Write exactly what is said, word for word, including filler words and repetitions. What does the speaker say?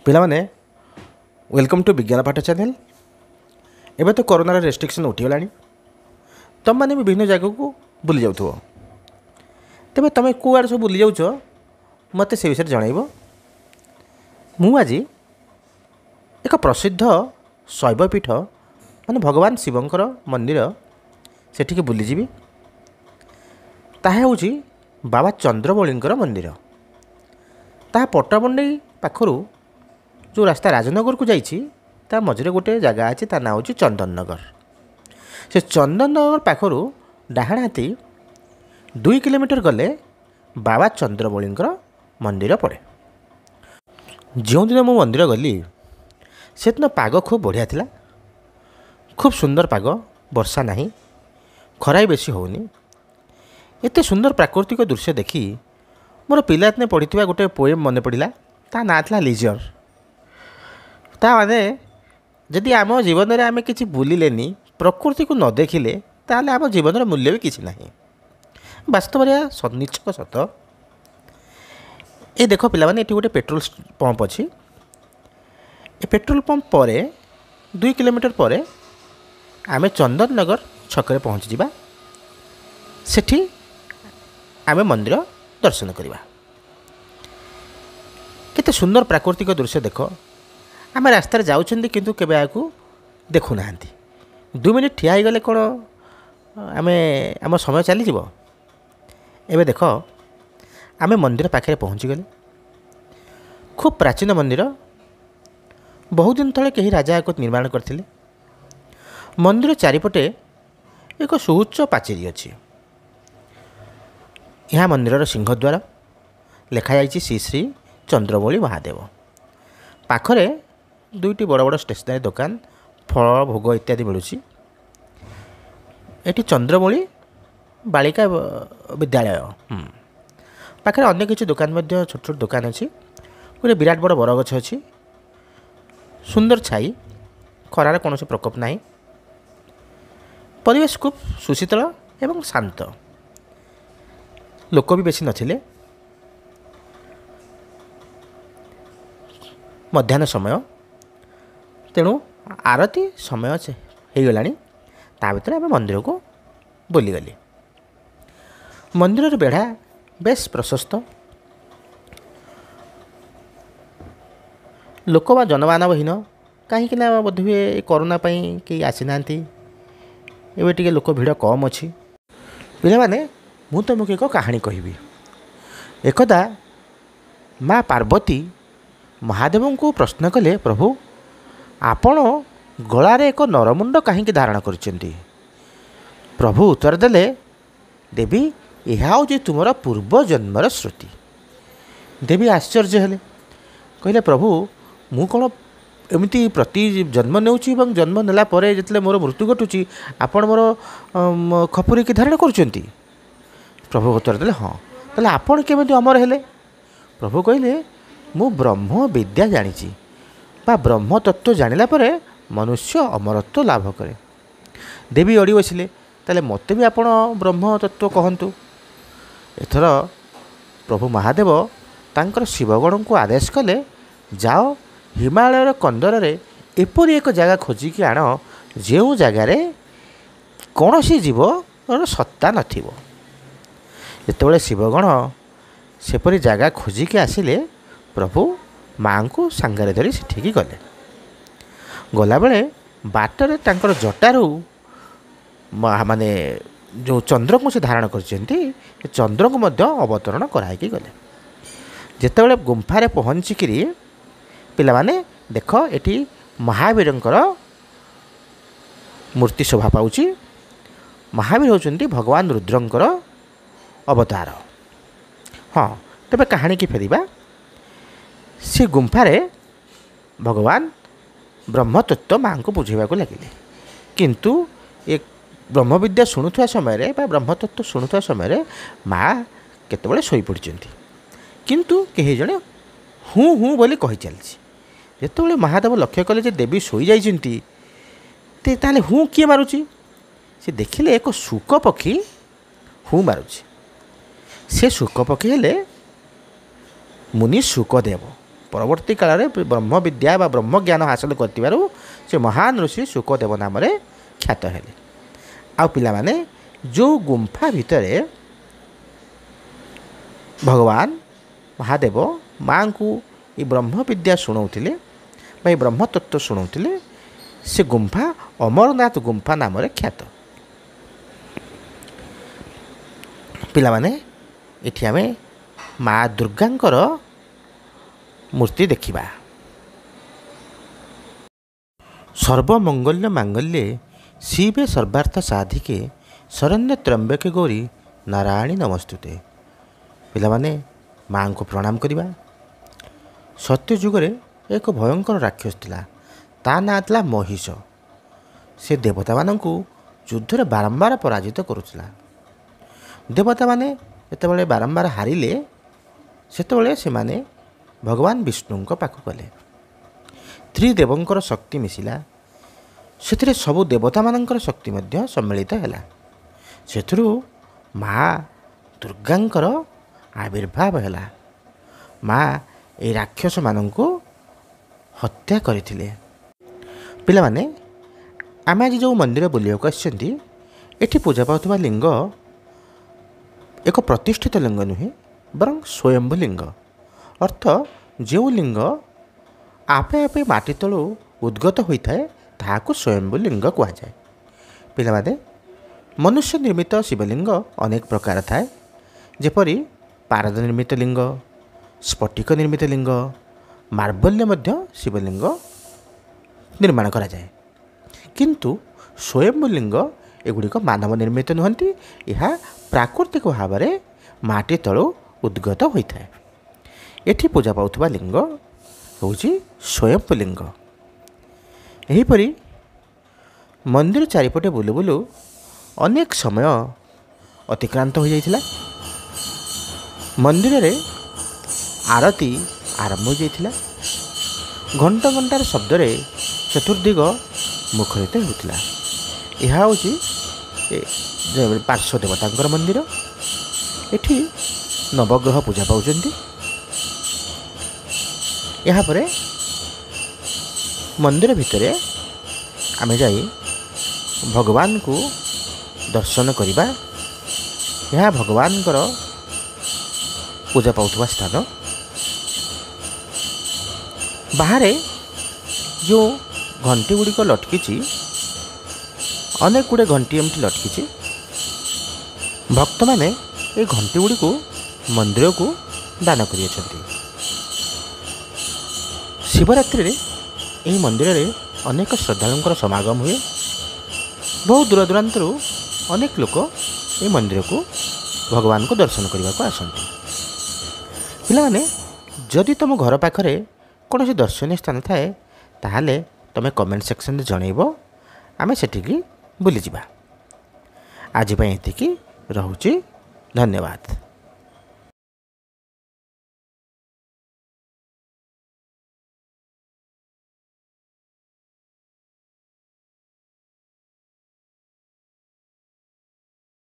ପିଲାମାନେ, welcome to ବିଜ୍ଞାନ ପାଠ ଚ୍ୟାନେଲ୍। ଏବେ ତ କରୋନାର ରେଷ୍ଟ୍ରିକ୍ସନ୍ ଉଠିଗଲାଣି, ତୁମମାନେ ବି ବିଭିନ୍ନ ଜାଗାକୁ ବୁଲି ଯାଉଥିବ। ତେବେ ତୁମେ କେଉଁଆଡ଼େ ସବୁ ବୁଲି ଯାଉଛ, ମୋତେ ସେ ବିଷୟରେ ଜଣାଇବ। ମୁଁ ଆଜି ଏକ ପ୍ରସିଦ୍ଧ ଶୈବପୀଠ, ମାନେ ଭଗବାନ ଶିବଙ୍କର ମନ୍ଦିର, ସେଠିକି ବୁଲିଯିବି। ତାହା ହେଉଛି ବାବା ଚନ୍ଦ୍ରମୌଳିଙ୍କର ମନ୍ଦିର। ତାହା ପଟ୍ଟାମୁଣ୍ଡାଇ ପାଖରୁ ଯେଉଁ ରାସ୍ତା ରାଜନଗରକୁ ଯାଇଛି, ତା ମଝିରେ ଗୋଟିଏ ଜାଗା ଅଛି, ତା ନାଁ ହେଉଛି ଚନ୍ଦନନଗର। ସେ ଚନ୍ଦନନଗର ପାଖରୁ ଡାହାଣ ହାତି ଦୁଇ କିଲୋମିଟର ଗଲେ ବାବା ଚନ୍ଦ୍ରମୌଳିଙ୍କର ମନ୍ଦିର ପଡ଼େ। ଯେଉଁଦିନ ମୁଁ ମନ୍ଦିର ଗଲି, ସେଦିନ ପାଗ ଖୁବ୍ ବଢ଼ିଆ ଥିଲା। ଖୁବ୍ ସୁନ୍ଦର ପାଗ, ବର୍ଷା ନାହିଁ, ଖରା ବି ବେଶୀ ହେଉନି। ଏତେ ସୁନ୍ଦର ପ୍ରାକୃତିକ ଦୃଶ୍ୟ ଦେଖି ମୋର ପିଲାଦିନେ ପଢ଼ିଥିବା ଗୋଟେ ପୋଏମ୍ ମନେ ପଡ଼ିଲା। ତା ନାଁ ଥିଲା ଲିଜର। ତା ମାନେ ଯଦି ଆମ ଜୀବନରେ ଆମେ କିଛି ବୁଲିଲେନି, ପ୍ରକୃତିକୁ ନ ଦେଖିଲେ, ତାହେଲେ ଆମ ଜୀବନର ମୂଲ୍ୟ ବି କିଛି ନାହିଁ। ବାସ୍ତବରେ ଏହା ନିଛକ ସତ। ଏ ଦେଖ ପିଲାମାନେ, ଏଠି ଗୋଟେ ପେଟ୍ରୋଲ ପମ୍ପ ଅଛି। ଏ ପେଟ୍ରୋଲ ପମ୍ପ ପରେ ଦୁଇ କିଲୋମିଟର ପରେ ଆମେ ଚନ୍ଦନନଗର ଛକରେ ପହଞ୍ଚିଯିବା। ସେଠି ଆମେ ମନ୍ଦିର ଦର୍ଶନ କରିବା। କେତେ ସୁନ୍ଦର ପ୍ରାକୃତିକ ଦୃଶ୍ୟ ଦେଖ। ଆମେ ରାସ୍ତାରେ ଯାଉଛନ୍ତି, କିନ୍ତୁ କେବେ ଏହାକୁ ଦେଖୁନାହାନ୍ତି। ଦୁଇ ମିନିଟ୍ ଠିଆ ହେଇଗଲେ କ'ଣ ଆମେ ଆମ ସମୟ ଚାଲିଯିବ? ଏବେ ଦେଖ, ଆମେ ମନ୍ଦିର ପାଖରେ ପହଞ୍ଚିଗଲେ। ଖୁବ୍ ପ୍ରାଚୀନ ମନ୍ଦିର। ବହୁ ଦିନ ତଳେ କେହି ରାଜା ଏହାକୁ ନିର୍ମାଣ କରିଥିଲେ। ମନ୍ଦିର ଚାରିପଟେ ଏକ ସୁଉଚ୍ଚ ପାଚେରୀ ଅଛି। ଏହା ମନ୍ଦିରର ସିଂହଦ୍ୱାର। ଲେଖାଯାଇଛି ଶ୍ରୀ ଶ୍ରୀ ଚନ୍ଦ୍ରମୌଳି ମହାଦେବ। ପାଖରେ ଦୁଇଟି ବଡ଼ ବଡ଼ ଷ୍ଟେସନାରୀ ଦୋକାନ, ଫଳ, ଭୋଗ ଇତ୍ୟାଦି ମିଳୁଛି। ଏଠି ଚନ୍ଦ୍ରମୌଳି ବାଳିକା ବିଦ୍ୟାଳୟ ପାଖରେ ଅନ୍ୟ କିଛି ଦୋକାନ ମଧ୍ୟ, ଛୋଟ ଛୋଟ ଦୋକାନ ଅଛି। ଗୋଟେ ବିରାଟ ବଡ଼ ବରଗଛ ଅଛି, ସୁନ୍ଦର ଛାଇ, ଖରାର କୌଣସି ପ୍ରକୋପ ନାହିଁ। ପରିବେଶ ଖୁବ୍ ସୁଶୀତଳ ଏବଂ ଶାନ୍ତ। ଲୋକ ବି ବେଶୀ ନଥିଲେ। ମଧ୍ୟାହ୍ନ ସମୟ, ତେଣୁ ଆରତି ସମୟ ହେଇଗଲାଣି। ତା ଭିତରେ ଆମେ ମନ୍ଦିରକୁ ବୁଲିଗଲି। ମନ୍ଦିରର ବେଢ଼ା ବେଶ ପ୍ରଶସ୍ତ। ଲୋକ ବା ଜନମାନବହୀନ, କାହିଁକି ନା ବୋଧହୁଏ କରୋନା ପାଇଁ କେହି ଆସିନାହାନ୍ତି। ଏବେ ଟିକେ ଲୋକ ଭିଡ଼ କମ୍ ଅଛି। ପିଲାମାନେ, ମୁଁ ତୁମକୁ ଏକ କାହାଣୀ କହିବି। ଏକଦା ମା ପାର୍ବତୀ ମହାଦେବଙ୍କୁ ପ୍ରଶ୍ନ କଲେ, ପ୍ରଭୁ, ଆପଣ ଗଳାରେ ଏକ ନରମୁଣ୍ଡ କାହିଁକି ଧାରଣ କରିଛନ୍ତି? ପ୍ରଭୁ ଉତ୍ତର ଦେଲେ, ଦେବୀ, ଏହା ହେଉଛି ତୁମର ପୂର୍ବ ଜନ୍ମର ସ୍ମୃତି। ଦେବୀ ଆଶ୍ଚର୍ଯ୍ୟ ହେଲେ, କହିଲେ, ପ୍ରଭୁ, ମୁଁ କ'ଣ ଏମିତି ପ୍ରତି ଜନ୍ମ ନେଉଛି ଏବଂ ଜନ୍ମ ନେଲା ପରେ ଯେତେବେଳେ ମୋର ମୃତ୍ୟୁ ଘଟୁଛି, ଆପଣ ମୋର ଖପୁରିକି ଧାରଣ କରୁଛନ୍ତି? ପ୍ରଭୁ ଉତ୍ତର ଦେଲେ, ହଁ। ତାହେଲେ ଆପଣ କେମିତି ଅମର ହେଲେ? ପ୍ରଭୁ କହିଲେ, ମୁଁ ବ୍ରହ୍ମ ବିଦ୍ୟା ଜାଣିଛି, ବା ବ୍ରହ୍ମ ତତ୍ତ୍ୱ ଜାଣିଲା ପରେ ମନୁଷ୍ୟ ଅମରତ୍ୱ ଲାଭ କରେ। ଦେବୀ ଅଡ଼ି ବସିଲେ, ତାହେଲେ ମୋତେ ବି ଆପଣ ବ୍ରହ୍ମ ତତ୍ତ୍ୱ କହନ୍ତୁ। ଏଥର ପ୍ରଭୁ ମହାଦେବ ତାଙ୍କର ଶିବଗଣଙ୍କୁ ଆଦେଶ କଲେ, ଯାଅ, ହିମାଳୟର କନ୍ଦରରେ ଏପରି ଏକ ଜାଗା ଖୋଜିକି ଆଣ, ଯେଉଁ ଜାଗାରେ କୌଣସି ଜୀବର ସତ୍ତା ନଥିବ। ଯେତେବେଳେ ଶିବଗଣ ସେପରି ଜାଗା ଖୋଜିକି ଆସିଲେ, ପ୍ରଭୁ ମାଆଙ୍କୁ ସାଙ୍ଗରେ ଧରି ସେଠିକି ଗଲେ। ଗଲାବେଳେ ବାଟରେ ତାଙ୍କର ଜଟାରୁ ମାନେ ଯେଉଁ ଚନ୍ଦ୍ରକୁ ସେ ଧାରଣ କରିଛନ୍ତି, ସେ ଚନ୍ଦ୍ରକୁ ମଧ୍ୟ ଅବତରଣ କରାହେଇକି ଗଲେ। ଯେତେବେଳେ ଗୁମ୍ଫାରେ ପହଞ୍ଚିକିରି, ପିଲାମାନେ ଦେଖ, ଏଠି ମହାବୀରଙ୍କର ମୂର୍ତ୍ତି ଶୋଭା ପାଉଛି। ମହାବୀର ହେଉଛନ୍ତି ଭଗବାନ ରୁଦ୍ରଙ୍କର ଅବତାର। ହଁ, ତେବେ କାହାଣୀକି ଫେରିବା। ସେ ଗୁମ୍ଫାରେ ଭଗବାନ ବ୍ରହ୍ମତତ୍ତ୍ୱ ମାଆଙ୍କୁ ବୁଝେଇବାକୁ ଲାଗିଲେ। କିନ୍ତୁ ଏ ବ୍ରହ୍ମବିଦ୍ୟା ଶୁଣୁଥିବା ସମୟରେ ବା ବ୍ରହ୍ମତତ୍ତ୍ୱ ଶୁଣୁଥିବା ସମୟରେ ମା କେତେବେଳେ ଶୋଇପଡ଼ିଛନ୍ତି, କିନ୍ତୁ କେହି ଜଣେ ହୁଁ ହୁଁ ବୋଲି କହି ଚାଲିଛି। ଯେତେବେଳେ ମହାଦେବ ଲକ୍ଷ୍ୟ କଲେ ଯେ ଦେବୀ ଶୋଇଯାଇଛନ୍ତି, ତାହେଲେ ହୁଁ କିଏ ମାରୁଛି? ସେ ଦେଖିଲେ ଏକ ଶୁକ ପକ୍ଷୀ ହୁଁ ମାରୁଛି। ସେ ଶୁକ ପକ୍ଷୀ ହେଲେ ମୁନି ଶୁକଦେବ। ପରବର୍ତ୍ତୀ କାଳରେ ବ୍ରହ୍ମବିଦ୍ୟା ବା ବ୍ରହ୍ମଜ୍ଞାନ ହାସଲ କରିଥିବାରୁ ସେ ମହାନ ଋଷି ଶୁକଦେବ ନାମରେ ଖ୍ୟାତ ହେଲେ। ଆଉ ପିଲାମାନେ, ଯେଉଁ ଗୁମ୍ଫା ଭିତରେ ଭଗବାନ ମହାଦେବ ମାଆଙ୍କୁ ଏ ବ୍ରହ୍ମବିଦ୍ୟା ଶୁଣାଉଥିଲେ ବା ଏ ବ୍ରହ୍ମତତ୍ତ୍ୱ ଶୁଣାଉଥିଲେ, ସେ ଗୁମ୍ଫା ଅମରନାଥ ଗୁମ୍ଫା ନାମରେ ଖ୍ୟାତ। ପିଲାମାନେ, ଏଠି ଆମେ ମା ଦୁର୍ଗାଙ୍କର ମୂର୍ତ୍ତି ଦେଖିବା। ସର୍ବମଙ୍ଗଲ୍ୟ ମାଙ୍ଗଲ୍ୟେ ଶିବେ ସର୍ବାର୍ଥ ସାଧିକେ ଶରଣ୍ୟ ତ୍ରମ୍ବକେ ଗୌରୀ ନାରାୟଣୀ ନମସ୍ତୁତେ। ପିଲାମାନେ, ମାଆଙ୍କୁ ପ୍ରଣାମ କରିବା। ସତ୍ୟଯୁଗରେ ଏକ ଭୟଙ୍କର ରାକ୍ଷସ ଥିଲା, ତା ନାଁ ଥିଲା ମହିଷ। ସେ ଦେବତାମାନଙ୍କୁ ଯୁଦ୍ଧରେ ବାରମ୍ବାର ପରାଜିତ କରୁଥିଲା। ଦେବତାମାନେ ଯେତେବେଳେ ବାରମ୍ବାର ହାରିଲେ, ସେତେବେଳେ ସେମାନେ ଭଗବାନ ବିଷ୍ଣୁଙ୍କ ପାଖକୁ ଗଲେ। ତ୍ରିଦେବଙ୍କର ଶକ୍ତି ମିଶିଲା, ସେଥିରେ ସବୁ ଦେବତାମାନଙ୍କର ଶକ୍ତି ମଧ୍ୟ ସମ୍ମିଳିତ ହେଲା। ସେଥିରୁ ମା ଦୁର୍ଗାଙ୍କର ଆବିର୍ଭାବ ହେଲା। ମା ଏଇ ରାକ୍ଷସମାନଙ୍କୁ ହତ୍ୟା କରିଥିଲେ। ପିଲାମାନେ, ଆମେ ଆଜି ଯେଉଁ ମନ୍ଦିର ବୁଲିବାକୁ ଆସିଛନ୍ତି, ଏଠି ପୂଜା ପାଉଥିବା ଲିଙ୍ଗ ଏକ ପ୍ରତିଷ୍ଠିତ ଲିଙ୍ଗ ନୁହେଁ, ବରଂ ସ୍ୱୟମ୍ଭୂ ଲିଙ୍ଗ। ଅର୍ଥ ଯେଉଁ ଲିଙ୍ଗ ଆପେ ଆପେ ମାଟି ତଳୁ ଉଦ୍ଗତ ହୋଇଥାଏ, ତାହାକୁ ସ୍ୱୟମ୍ଭୂ ଲିଙ୍ଗ କୁହାଯାଏ। ପିଲାମାନେ, ମନୁଷ୍ୟ ନିର୍ମିତ ଶିବଲିଙ୍ଗ ଅନେକ ପ୍ରକାର ଥାଏ, ଯେପରି ପାରଦ ନିର୍ମିତ ଲିଙ୍ଗ, ସ୍ଫଟିକ ନିର୍ମିତ ଲିଙ୍ଗ, ମାର୍ବଲରେ ମଧ୍ୟ ଶିବଲିଙ୍ଗ ନିର୍ମାଣ କରାଯାଏ। କିନ୍ତୁ ସ୍ୱୟମ୍ଭୂ ଲିଙ୍ଗ ଏଗୁଡ଼ିକ ମାନବ ନିର୍ମିତ ନୁହନ୍ତି, ଏହା ପ୍ରାକୃତିକ ଭାବରେ ମାଟି ତଳୁ ଉଦ୍ଗତ ହୋଇଥାଏ। ଏଠି ପୂଜା ପାଉଥିବା ଲିଙ୍ଗ ହେଉଛି ସ୍ୱୟମ୍ଭୂ ଲିଙ୍ଗ। ଏହିପରି ମନ୍ଦିର ଚାରିପଟେ ବୁଲୁ ବୁଲୁ ଅନେକ ସମୟ ଅତିକ୍ରାନ୍ତ ହୋଇଯାଇଥିଲା। ମନ୍ଦିରରେ ଆରତୀ ଆରମ୍ଭ ହୋଇଯାଇଥିଲା। ଘଣ୍ଟ ଘଣ୍ଟାର ଶବ୍ଦରେ ଚତୁର୍ଦିଗ ମୁଖରିତ ହେଉଥିଲା। ଏହା ହେଉଛି ପାର୍ଶ୍ୱ ଦେବତାଙ୍କର ମନ୍ଦିର। ଏଠି ନବଗ୍ରହ ପୂଜା ପାଉଛନ୍ତି। ଏହାପରେ ମନ୍ଦିର ଭିତରେ ଆମେ ଯାଇ ଭଗବାନଙ୍କୁ ଦର୍ଶନ କରିବା। ଏହା ଭଗବାନଙ୍କର ପୂଜା ପାଉଥିବା ସ୍ଥାନ। ବାହାରେ ଯେଉଁ ଘଣ୍ଟି ଗୁଡ଼ିକ ଲଟକିଛି, ଅନେକ ଗୁଡ଼ିଏ ଘଣ୍ଟି ଏମିତି ଲଟକିଛି। ଭକ୍ତମାନେ ଏ ଘଣ୍ଟି ଗୁଡ଼ିକୁ ମନ୍ଦିରକୁ ଦାନ କରିଅଛନ୍ତି। ଶିବରାତ୍ରିରେ ଏହି ମନ୍ଦିରରେ ଅନେକ ଶ୍ରଦ୍ଧାଳୁଙ୍କର ସମାଗମ ହୁଏ। ବହୁ ଦୂରଦୂରାନ୍ତରୁ ଅନେକ ଲୋକ ଏହି ମନ୍ଦିରକୁ ଭଗବାନଙ୍କୁ ଦର୍ଶନ କରିବାକୁ ଆସନ୍ତି। ପିଲାମାନେ, ଯଦି ତୁମ ଘର ପାଖରେ କୌଣସି ଦର୍ଶନୀୟ ସ୍ଥାନ ଥାଏ, ତାହେଲେ ତୁମେ କମେଣ୍ଟ ସେକ୍ସନରେ ଜଣାଇବ, ଆମେ ସେଠିକି ବୁଲିଯିବା। ଆଜି ପାଇଁ ଏତିକି ରହୁଛି, ଧନ୍ୟବାଦ।